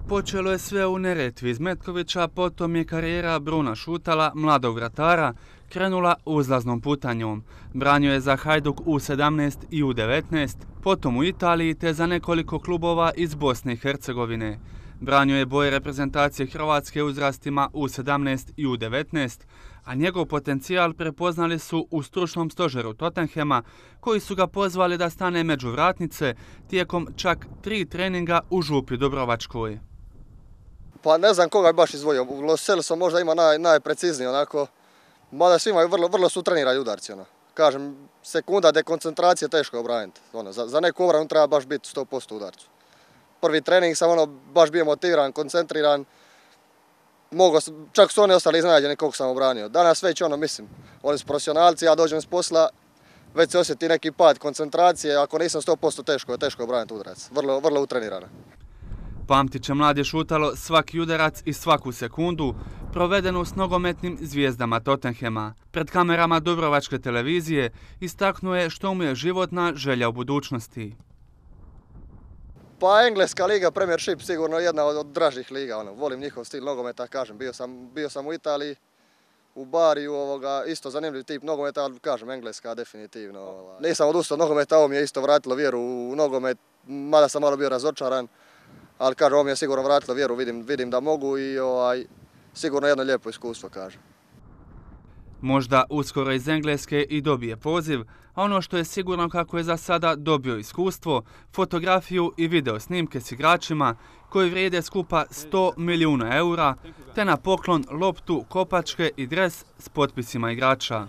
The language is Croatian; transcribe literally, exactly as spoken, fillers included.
Počelo je sve u Neretvi iz Metkovića, potom je karijera Bruna Šutala, mladog vratara, krenula uzlaznom putanjom. Branio je za Hajduk U sedamnaest i U devetnaest, potom u Italiji te za nekoliko klubova iz Bosne i Hercegovine. Branio je boje reprezentacije Hrvatske uzrastima U sedamnaest i U devetnaest, a njegov potencijal prepoznali su u stručnom stožeru Tottenhema, koji su ga pozvali da stane među vratnice tijekom čak tri treninga u Župi Dubrovačkoj. Pa ne znam koga je baš izvojio. Lo Celso možda ima naj, najprecizniji onako, mada svi imaju vrlo, vrlo su trenirani udarci. Ono. Kažem, sekunda dekoncentracije teško je obraniti. Ono, za, za neku obranu treba baš biti sto posto udarcu. Prvi trening sam ono, baš bio motiviran, koncentriran. Mogu, čak su oni ostali iznenađeni koliko sam obranio. Danas već ono, mislim, oni su profesionalci, ja dođem s posla, već se osjeti neki pad koncentracije, ako nisam sto posto teško je teško obraniti udarac. Vrlo, vrlo utrenirano. Pamtit će mladi Šutalo svaki udarac i svaku sekundu provedenu s nogometnim zvijezdama Tottenhema. Pred kamerama Dubrovačke televizije istaknuo je što mu je životna želja u budućnosti. Pa engleska liga, Premiership, sigurno jedna od, od dražih liga. Ono. Volim njihov stil nogometa, kažem, bio sam, bio sam u Italiji, u Bariju, ovoga, isto zanimljiv tip nogometa, ali kažem, engleska definitivno. Ovaj. Nisam odustao od nogometa, ovo mi je isto vratilo vjeru u nogomet, mada sam malo bio razočaran. Ali kažem, ovo mi je sigurno vratilo vjeru, vidim, vidim da mogu i ovaj, sigurno jedno lijepo iskustvo, kažem. Možda uskoro iz Engleske i dobije poziv, a ono što je sigurno kako je za sada dobio iskustvo, fotografiju i video snimke s igračima koji vrijede skupa sto milijuna eura, te na poklon loptu, kopačke i dres s potpisima igrača.